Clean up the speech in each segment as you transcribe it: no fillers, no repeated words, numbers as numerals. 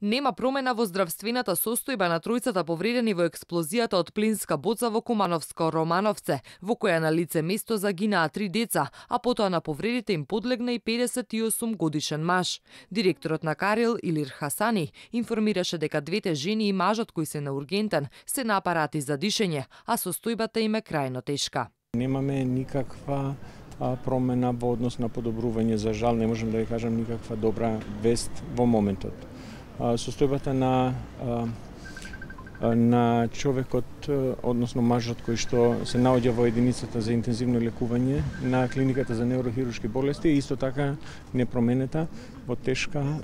Нема промена во здравствената состојба на тројцата повредени во експлозијата од плинска боца во Кумановско Романовце, во која на лице место загинаа 3 деца, а потоа на повредите им подлегна и 58 годишен маж. Директорот на Карел Илир Хасани информираше дека двете жени и мажот кои се на ургентен се на апарати за дишење, а состојбата им е крајно тешка. Немаме никаква промена во однос на подобрување, за жал не можам да ја кажам никаква добра вест во моментот. Состојбата на човекот, односно мажот кој што се наоѓа во единицата за интензивно лекување на клиниката за неурохируршки болести, исто така непроменета во тешка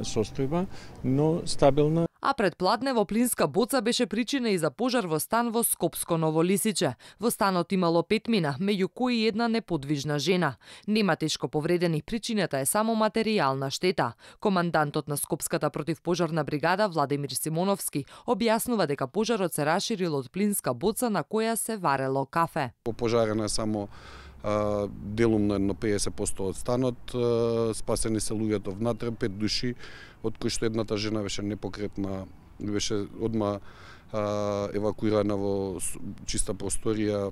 состојба, но стабилна. А предпладне во плинска боца беше причина и за пожар во стан во Скопско Ново Лисиче. Во станот имало 5 мина, меѓу кои една неподвижна жена. Нема тешко повредени, причината е само материјална штета. Командантот на Скопската противпожарна бригада Владимир Симоновски објаснува дека пожарот се расширил од плинска боца на која се варело кафе. Пожарена е само делумно едно 50% од станот, спасени се луѓето внатре, 5 души, од кои што едната жена беше непокретна, беше одма евакуирана во чиста просторија,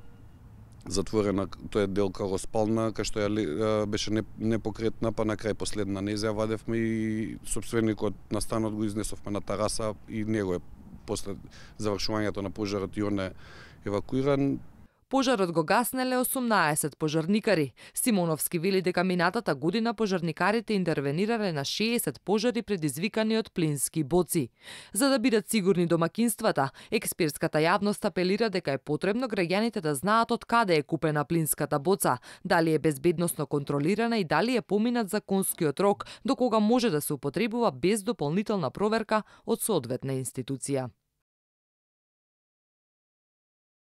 затворена, тоа е дел кароспална, кај што ја беше непокретна, па на крај последна не ја вадевме и сопственикот на станот го изнесовме на тараса и него е после завршувањето на пожарот и он е евакуиран. Пожарот го гаснеле 18 пожарникари. Симоновски вели дека минатата година пожарникарите интервенирале на 60 пожари предизвикани од плински боци. За да бидат сигурни домакинствата, експертската јавност апелира дека е потребно граѓаните да знаат од каде е купена плинската боца, дали е безбедносно контролирана и дали е поминат законскиот рок до кога може да се употребува без дополнителна проверка од соодветна институција.